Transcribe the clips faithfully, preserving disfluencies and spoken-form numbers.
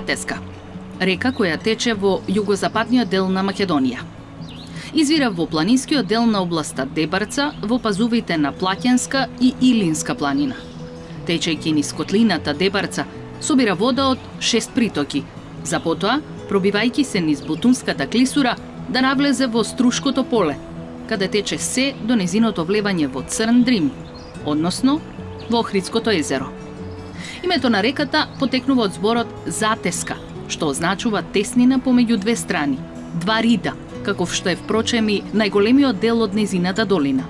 Сатеска, река која тече во југозападниот дел на Македонија. Извира во планинскиот дел на областа Дебарца во пазувите на Плаќенска и Илинска планина. Течејќи низ котлината Дебарца, собира вода од шест притоки, за потоа, пробивајќи се низ Бутунската клисура, да навлезе во Струшкото поле, каде тече се до незиното влевање во Црн Дрим, односно во Охридското езеро. Името на реката потекнува од зборот Затеска, што означува теснина помеѓу две страни, два рида, каков што е впрочем и најголемиот дел од незината долина.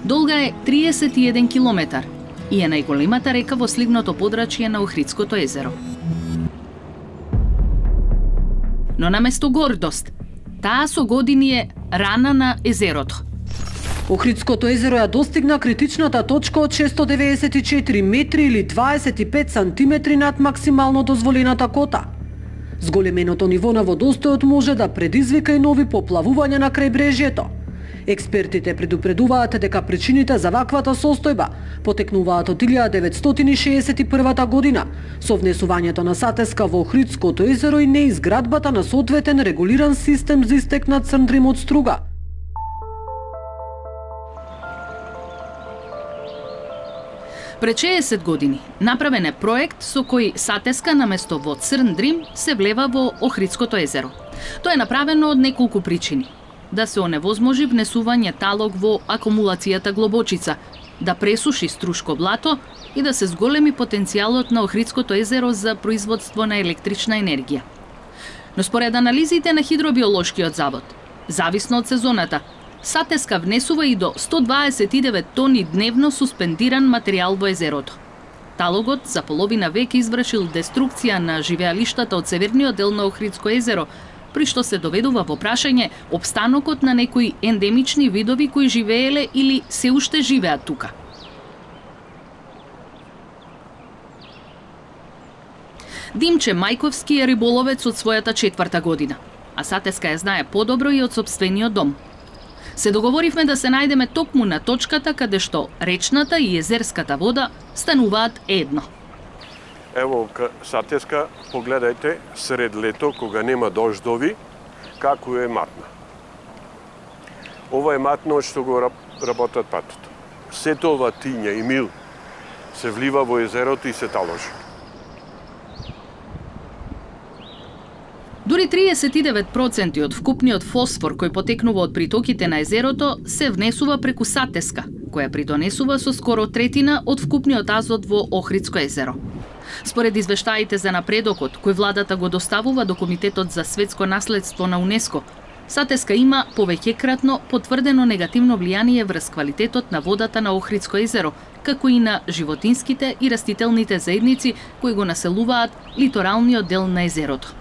Долга е триесет и еден километар и е најголемата река во сливното подрачје на Охридското езеро. Но наместо гордост, таа со години е рана на езерото. Охридското езеро ја достигна критичната точка од шестстотини деведесет и четири метри или дваесет и пет сантиметри над максимално дозволената кота. Зголеменото ниво на водостојот може да предизвика и нови поплавувања на крајбрежјето. Експертите предупредуваат дека причините за ваквата состојба потекнуваат од илјада деветстотини шеесет и прва година со внесувањето на Сатеска во Охридското езеро и неизградбата на соодветен регулиран систем за истек на Црн Дрим од струга. Пред шеесет години направен е проект со кој Сатеска наместо во Црн Дрим се влева во Охридското езеро. Тоа е направено од неколку причини. Да се оневозможи внесување талог во акумулацијата Глобочица, да пресуши Струшко блато и да се зголеми потенцијалот на Охридското езеро за производство на електрична енергија. Но според анализите на Хидробиолошкиот завод, зависно од сезоната, Сатеска внесува и до сто дваесет и девет тони дневно суспендиран материјал во езерото. Талогот за половина век извршил деструкција на живеалиштата од северниот дел на Охридско езеро, при што се доведува во прашање опстанокот на некои ендемични видови кои живееле или се уште живеат тука. Димче Мајковски е риболовец од својата четврта година, а Сатеска ја знае подобро и од сопствениот дом. Се договоривме да се најдеме токму на точката каде што речната и езерската вода стануваат едно. Ево, Сатеска, погледајте, сред лето, кога нема дождови, како е матна. Ова е матно од што го работат патото. Сето ова тиња и мил се влива во езерото и се таложи. Дури триесет и девет проценти од вкупниот фосфор кој потекнува од притоките на езерото се внесува преку Сатеска, која придонесува со скоро третина од вкупниот азот во Охридско езеро. Според извештаите за напредокот кој владата го доставува до Комитетот за светско наследство на УНЕСКО, Сатеска има повеќекратно потврдено негативно влијание врз квалитетот на водата на Охридско езеро, како и на животинските и растителните заедници кои го населуваат литоралниот дел на езерото.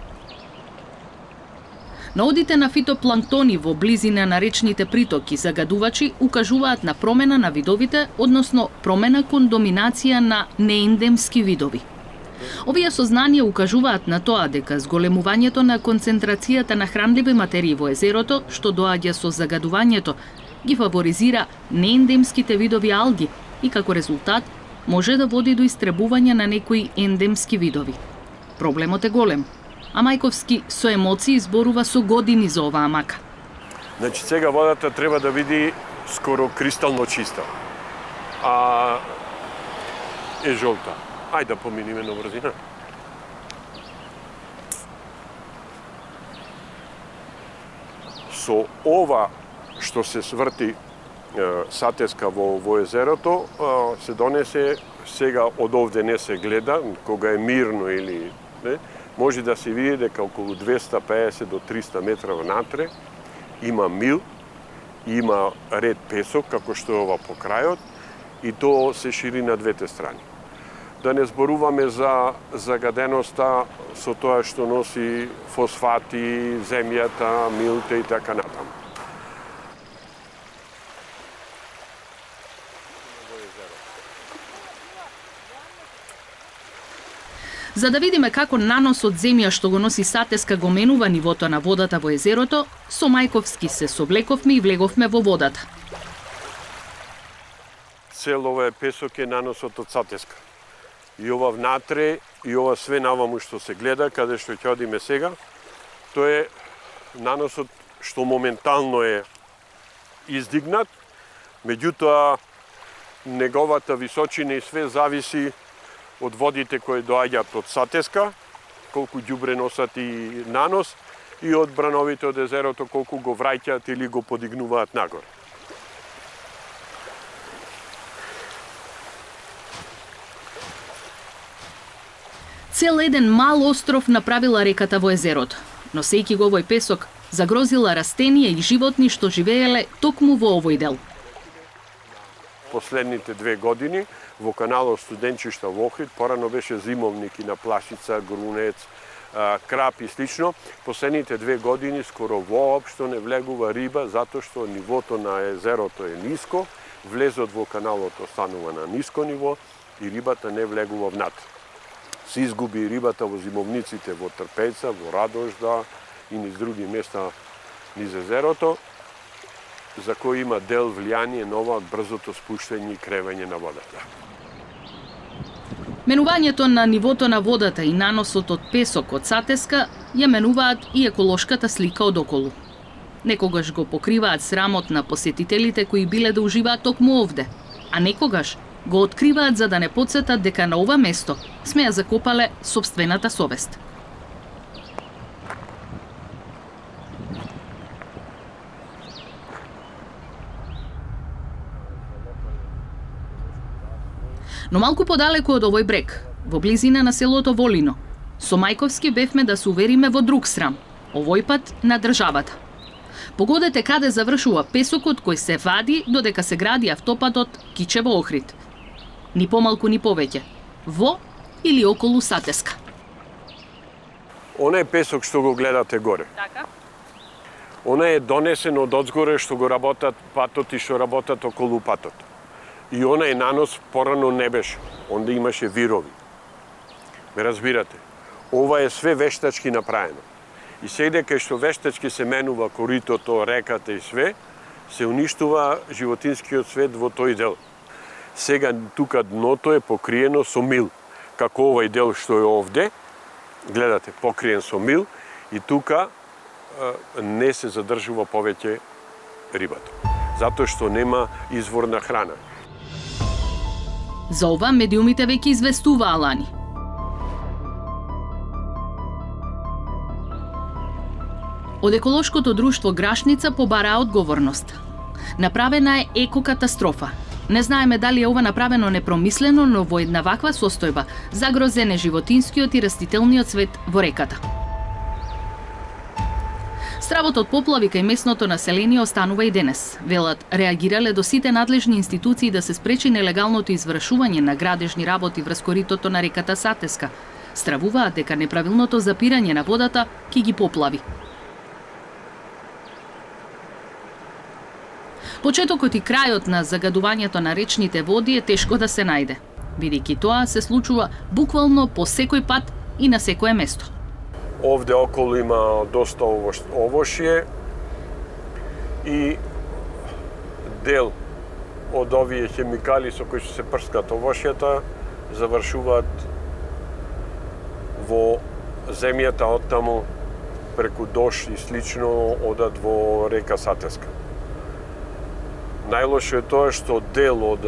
Наодите на фитопланктони во близина на речните притоки загадувачи укажуваат на промена на видовите, односно промена кон доминација на неендемски видови. Овие сознанија укажуваат на тоа дека зголемувањето на концентрацијата на хранливи материи во езерото, што доаѓа со загадувањето, ги фаворизира неендемските видови алги и како резултат може да води до истребување на некои ендемски видови. Проблемот е голем, а Мајковски со емоции зборува со години за оваа мака. Значи, сега водата треба да види скоро кристално чиста, а е жолта. Ајде да поминиме на брзина. Со ова што се сврти Сатеска во, во езерото, се донесе, сега од овде не се гледа, кога е мирно или не, може да се види дека околу двеста педесет до триста метра внатре има мил, има ред песок, како што е ова по крајот, и тоа се шири на двете страни. Да не зборуваме за загаденоста со тоа што носи фосфати, земјата, милте и така натаму. За да видиме како нанос од земја што го носи Сатеска го менува нивото на водата во езерото, со Мајковски се соблековме и влеговме во водата. Цел ова е песок е наносот од Сатеска. и ова внатре, и ова све наваму што се гледа, каде што ќе одиме сега, тоа е наносот што моментално е издигнат, меѓутоа неговата височина и све зависи од водите кои доаѓаат од Сатеска, колку ѓубре носат и нанос, и од брановите од езерото колку го враќаат или го подигнуваат нагоре. Цел еден мал остров направила реката во езерото, носејќи го овој песок, загрозила растенија и животни што живееле токму во овој дел. Последните две години во каналот Студенчишта во Охрид, порано беше зимовник и на плашица, грунец, крап и слично. Последните две години скоро воопшто не влегува риба, затоа што нивото на езерото е ниско, влезот во каналот останува на ниско ниво и рибата не влегува внатре. Се изгуби рибата во зимовниците во Трпеца, во Радожда и низ други места низ езерото, за кој има дел влијание на ова брзото спуштање и кревање на водата. Менувањето на нивото на водата и наносот од песок од Сатеска ја менуваат и еколошката слика од околу. Некогаш го покриваат срамот на посетителите кои биле да уживаат токму овде, а некогаш го откриваат за да не потсетат дека на ова место сме ја закопале сопствената совест. Но малку подалеку од овој брег, во близина на селото Волино, со Мајковски бевме да се увериме во друг срам, овој пат на државата. Погодете каде завршува песокот кој се вади додека се гради автопатот Кичево-Охрид. Ни помалку ни повеќе, во или околу Сатеска. Онај песок што го гледате горе. Така? Она е донесен од одзгоре што го работат патот и што работат околу патот. И онај нанос порано не беше, онда имаше вирови. Ме разбирате, ова е све вештачки направено. И сега кај што вештачки се менува коритото, реката и све, се уништува животинскиот свет во тој дел. Сега тука дното е покриено со мил, како овој дел што е овде, гледате, покриен со мил, и тука е, не се задржува повеќе рибата, затоа што нема извор на храна. За ова медиумите веќе известуваа лани. Од еколошкото друштво Грашница побараа одговорност. Направена е екокатастрофа. Не знаеме дали е ова направено непромислено, но во една ваква состојба загрозен е животинскиот и растителниот свет во реката. Стравот од поплави кај местното население останува и денес. Велат, реагирале до сите надлежни институции да се спречи нелегалното извршување на градежни работи врз коритото на реката Сатеска. Стравуваат дека неправилното запирање на водата ќе ги поплави. Почетокот и крајот на загадувањето на речните води е тешко да се најде, бидејќи тоа се случува буквално по секој пат и на секое место. Овде околу има доста овошје и дел од овие хемикали со кои се прскат овошјата завршуваат во земјата, оттаму преку дош и слично одат во река Сатеска. Најлошо е тоа што дел од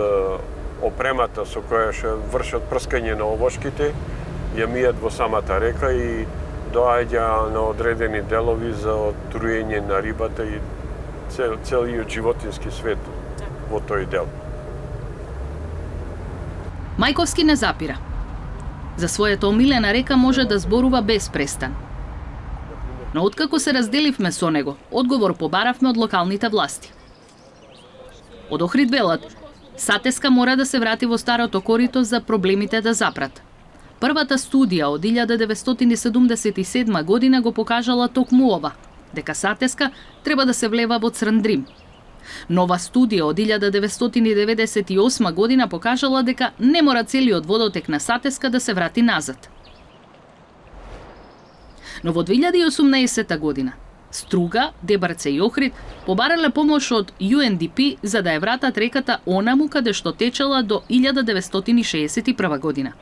опремата со која ќе вршат прскање на овошките ја мијат во самата река и доаѓа на одредени делови за отруење на рибата и цел, целиот животински свет во тој дел. Мајковски не запира. За својата омилена река може да зборува без престан. Но откако се разделивме со него, одговор побаравме од локалните власти. Од Охрид велат, Сатеска мора да се врати во старото корито за проблемите да запрат. Првата студија од илјада деветстотини седумдесет и седма година го покажала токму ова, дека Сатеска треба да се влева во Црн Дрим. Нова студија од илјада деветстотини деветдесет и осма година покажала дека не мора целиот водотек на Сатеска да се врати назад. Но во две илјади и осумнаесета година Струга, Дебарце и Охрид побарале помош од Ю Ен Ди Пи за да ја вратат реката онаму каде што течела до илјада деветстотини шеесет и прва година.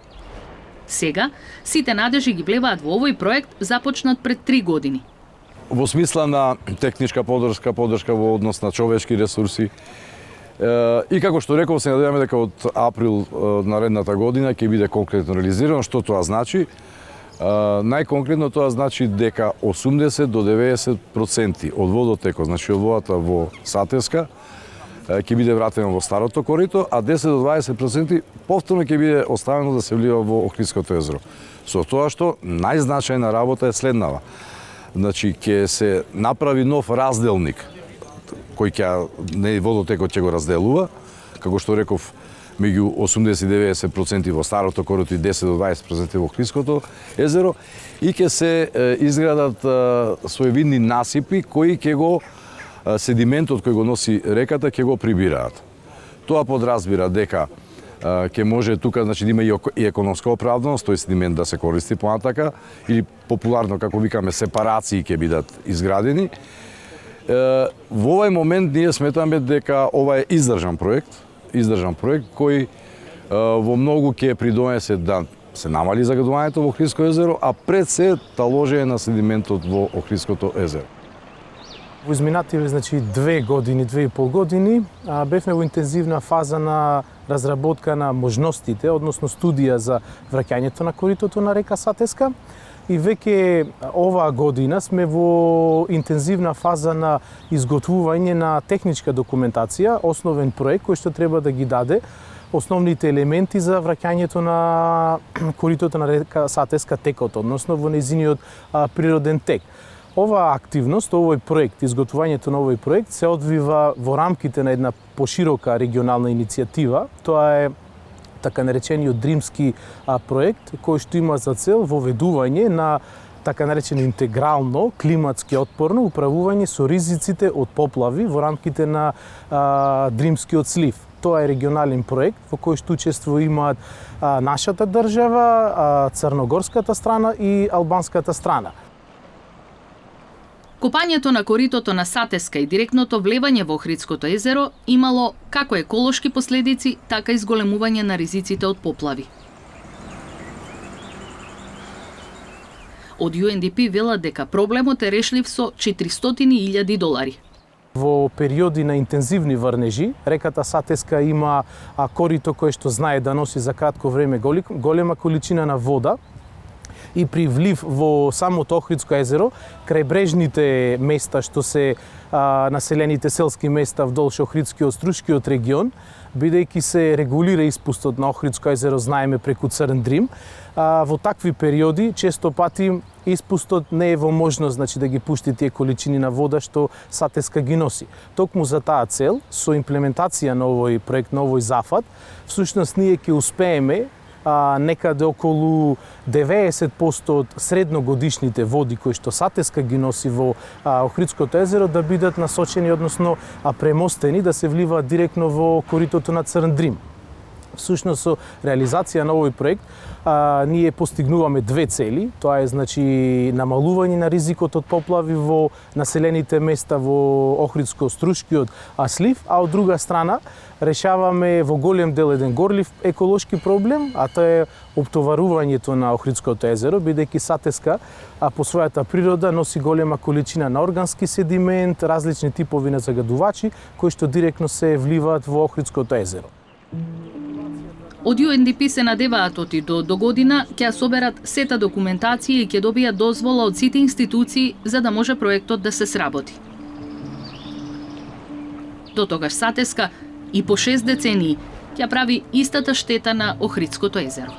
Сега, сите надежи ги влеваат во овој проект започнат пред три години. Во смисла на техничка поддршка, поддршка во однос на човечки ресурси. И како што реков, се надеваме дека од април наредната година ќе биде конкретно реализирано. Што тоа значи? Најконкретно тоа значи дека осумдесет до деветдесет проценти од водотекот, значи од водата во Сатеска, ќе биде вратено во старото корито, а десет до дваесет проценти повторно ќе биде оставено да се влива во Охридското езеро. Со тоа што најзначајна работа е следнава. Значи, ќе се направи нов разделник, кој ќе, не водотекот ќе го разделува, како што реков, меѓу осумдесет до деветдесет проценти во старото корито и десет до дваесет проценти во Охридското езеро, и ќе се изградат своевидни насипи кои ќе го седиментот кој го носи реката ќе го прибираат. Тоа подразбира дека ќе може тука, значи, да има и економска оправданост, тој седимент да се користи понатака, или популарно, како викаме, сепарации ќе бидат изградени. Во овој момент ние сметаме дека ова е издржан проект, издржан проект кој во многу ќе придонесе да се намали загадувањето во Охридско езеро, а пред се таложење на седиментот во Охридското езеро. Во изминативе, значи, две години, две и пол години, бевме во интензивна фаза на разработка на можностите, односно студија за враќањето на коритото на река Сатеска. И веќе оваа година сме во интензивна фаза на изготвување на техничка документација, основен проект кој што треба да ги даде основните елементи за враќањето на коритото на река Сатеска текот, односно во нејзиниот природен тек. Оваа активност, овој проект, изготвувањето на овој проект се одвива во рамките на една поширока регионална иницијатива. Тоа е така наречениот Дримски проект, кој што има за цел воведување на така наречено интегрално, климатски отпорно управување со ризиците од поплави во рамките на а, Дримскиот слив. Тоа е регионален проект во кој што учествува имаат а, нашата држава, а, црногорската страна и албанската страна. Копањето на коритото на Сатеска и директното влевање во Охридското езеро имало како еколошки последици, така и зголемување на ризиците од поплави. Од Ю Ен Ди Пи велат дека проблемот е решлив со четиристотини илјади долари. Во периоди на интензивни врнежи, реката Сатеска има корито кое што знае да носи за кратко време голема количина на вода, и при влив во самото Охридско езеро, крајбрежните места што се а, населените селски места вдолж Охридскиот Струшкиот регион, бидејќи се регулира испустот на Охридско езеро, знаеме, преку Црн Дрим, а, во такви периоди често пати испустот не е во можност, значи, да ги пушти тие количини на вода што Сатеска ги носи. Токму за таа цел, со имплементација на овој проект, на овој зафат, всушност ние ќе успееме А, некаде околу деветдесет проценти од средногодишните води кои што Сатеска ги носи во а, Охридското езеро да бидат насочени, односно а, премостени, да се вливаат директно во коритото на Црн Дрим. Всушност, со реализација на овој проект, а, ние постигнуваме две цели. Тоа е, значи, намалување на ризикот од поплави во населените места во Охридско-Струшкиот слив, а од друга страна решаваме во голем дел еден горлив еколошки проблем, а тоа е оптоварувањето на Охридското езеро, бидејќи Сатеска а, по својата природа носи голема количина на органски седимент, различни типови на загадувачи, кои што директно се вливаат во Охридското езеро. Од Ю Ен Ди Пи се надеваат оти до, до година ќе соберат сета документација и ќе добијат дозвола од сите институции за да може проектот да се сработи. До тогаш Сатеска и по шест децении ќе прави истата штета на Охридското езеро.